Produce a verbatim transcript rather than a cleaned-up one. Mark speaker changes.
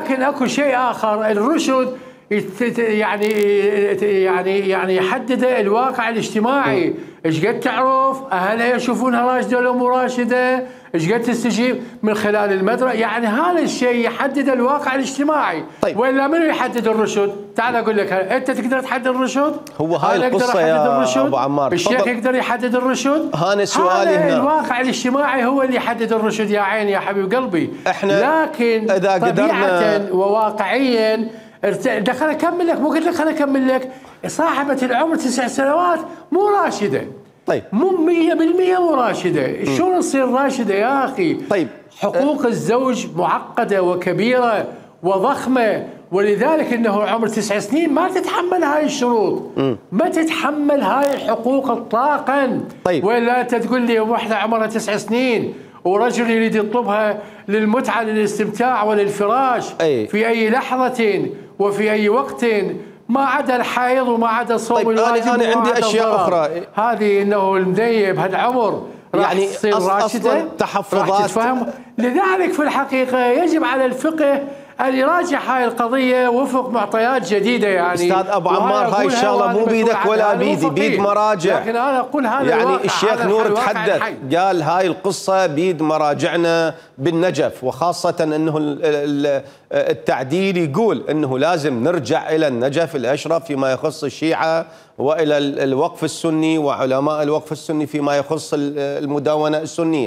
Speaker 1: لكن اكو شيء اخر، الرشد يعني يعني يعني يحدد الواقع الاجتماعي. ايش قد تعرف اهلها يشوفونها راشده ولا مو راشده، ايش قد تستجيب من خلال المدرسه، يعني هذا الشيء يحدد الواقع الاجتماعي.
Speaker 2: طيب.
Speaker 1: ولا منو يحدد الرشد؟ تعال اقول لك، انت تقدر تحدد الرشد؟
Speaker 2: هو هاي القصه يا
Speaker 1: الرشد؟
Speaker 2: ابو عمار،
Speaker 1: الشيخ يقدر يحدد الرشد؟
Speaker 2: هذا سؤالي هنا.
Speaker 1: الواقع الاجتماعي هو اللي يحدد الرشد يا عيني يا حبيب قلبي.
Speaker 2: احنا
Speaker 1: لكن
Speaker 2: اذا قدرنا
Speaker 1: وواقعيا دخل اكمل لك، مو قلت لك خليني اكمل لك. صاحبة العمر تسع سنوات مو راشدة.
Speaker 2: طيب
Speaker 1: مو مية بالمية مو راشدة، شلون تصير راشدة يا اخي؟
Speaker 2: طيب
Speaker 1: حقوق أه الزوج معقدة وكبيرة وضخمة، ولذلك انه عمر تسع سنين ما تتحمل هاي الشروط، م. ما تتحمل هاي الحقوق اطلاقا.
Speaker 2: طيب
Speaker 1: ولا انت تقول لي واحدة عمرها تسع سنين ورجل يريد يطلبها للمتعة للاستمتاع وللفراش أي. في أي لحظة وفي أي وقت، ما عدا الحيض وما عدا صوم
Speaker 2: طيب
Speaker 1: الواجب.
Speaker 2: أنا عندي أشياء أخرى،
Speaker 1: هذه إنه المديب هالعمر راح
Speaker 2: يعني
Speaker 1: تصير راشدة،
Speaker 2: تحفظات.
Speaker 1: لذلك في الحقيقة يجب على الفقه أن يراجع هاي القضية وفق معطيات جديدة. يعني
Speaker 2: أستاذ أبو عمار هاي الشغلة مو بيدك ولا بيدي، بيد مراجع.
Speaker 1: لكن أنا أقول هذا
Speaker 2: يعني الشيخ نور تحدث قال هاي القصة بيد مراجعنا بالنجف، وخاصة أنه التعديل يقول أنه لازم نرجع إلى النجف الأشرف فيما يخص الشيعة، وإلى الوقف السني وعلماء الوقف السني فيما يخص المدونة السنية.